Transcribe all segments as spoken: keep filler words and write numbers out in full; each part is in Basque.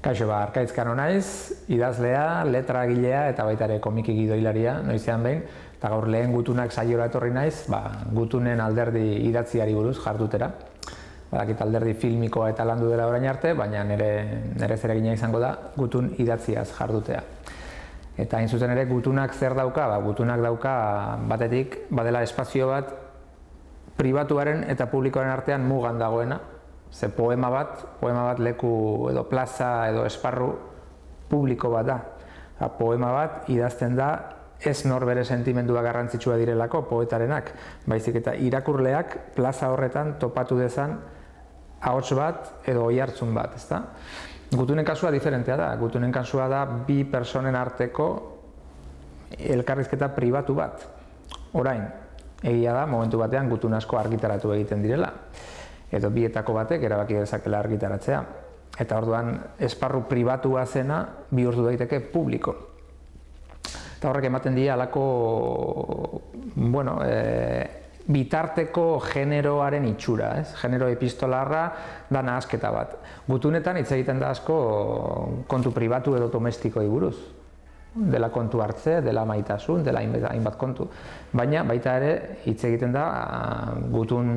Kaixo, ba, Arkaitz Kano naiz, idazlea, letragilea eta baita ere komiki gidoilaria, noizean behin, eta gaur lehen gutunak saiora etorri naiz, ba, gutunen alderdi idatziari buruz jardutera. Badakit alderdi filmikoa eta landu dela orain arte, baina nire, nire zeregina izango da gutun idatziaz jardutea. Eta hain zuzen ere gutunak zer dauka? Ba, gutunak dauka batetik badela espazio bat pribatuaren eta publikoaren artean mugan dagoena. Ze poema bat, poema bat leku edo plaza edo esparru publiko bat da. Ha, poema bat idazten da ez norbere sentimendua garrantzitsua direlako poetarenak, baizik eta irakurleak plaza horretan topatu dezan ahots bat edo oihartzun bat, ezta? Gutunen kasua diferentea da. Gutunen kasua da bi personen arteko elkarrizketa pribatu bat. Orain, egia da momentu batean gutun asko argitaratu egiten direla. Edo bietako batek erabaki dezakela argitaratzea. Eta orduan esparru pribatua zena bihurtu daiteke publiko. Eta horrek ematen dira halako bueno, e, bitarteko generoaren itxura, ez? Genero epistolarra da nahasketa bat. Gutunetan hitz egiten da asko kontu pribatu edo domestikoi buruz. Dela kontu hartze, dela maitasun, dela hainbat kontu. Baina baita ere hitz egiten da gutun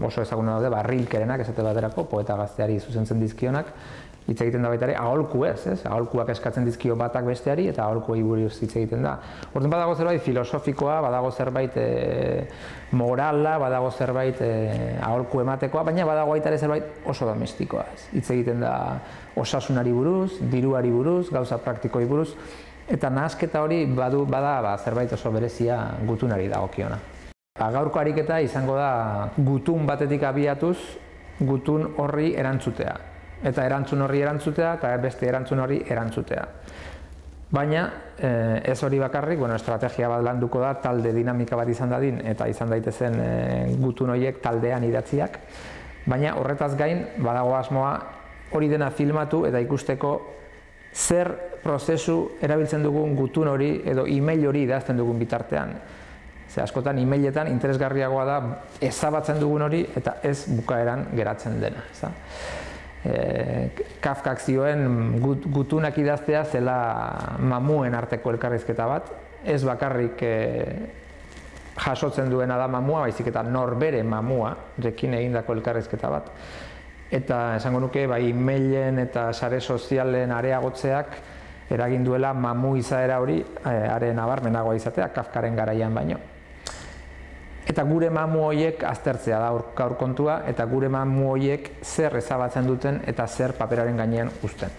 oso ezaguna daude Rilkerenak esate baterako, poeta gazteari zuzentzen dizkionak, hitz egiten da baita ere aholku ez, ez? Aholkuak eskatzen dizkio batak besteari eta aholkuei buruz hitz egiten da. Orduan badago zerbait filosofikoa, badago zerbait e, morala, badago zerbait e, aholku ematekoa, baina badago baita ere zerbait oso domestikoa ez. Hitz egiten da osasunari buruz, diruari buruz, gauza praktikoi buruz, eta nahasketa hori badu bada ba, zerbait oso berezia gutunari dagokiona. Ba, gaurko ariketa izango da gutun batetik abiatuz gutun horri erantzutea. Eta erantzun horri erantzutea eta beste erantzun horri erantzutea. Baina eh, ez hori bakarrik, bueno, estrategia bat landuko da, talde dinamika bat izan dadin eta izan daitezen eh, gutun horiek taldean idatziak. Baina horretaz gain badago asmoa hori dena filmatu eta ikusteko zer prozesu erabiltzen dugun gutun hori edo email hori idazten dugun bitartean. Ze askotan emailetan interesgarriagoa da ezabatzen dugun hori eta ez bukaeran geratzen dena. Ezta? E, Kafkak zioen gut, gutunak idaztea zela mamuen arteko elkarrizketa bat, ez bakarrik e, jasotzen duena da mamua, baizik eta norbere mamua, rekin egindako elkarrizketa bat. Eta esango nuke, bai, mailen eta sare sozialen areagotzeak eragin duela mamu izaera hori are nabarmenagoa izatea, Kafkaren garaian baino. Eta gure mamu horiek aztertzea da gaur kontua, eta gure mamu horiek zer ezabatzen duten eta zer paperaren gainean uzten.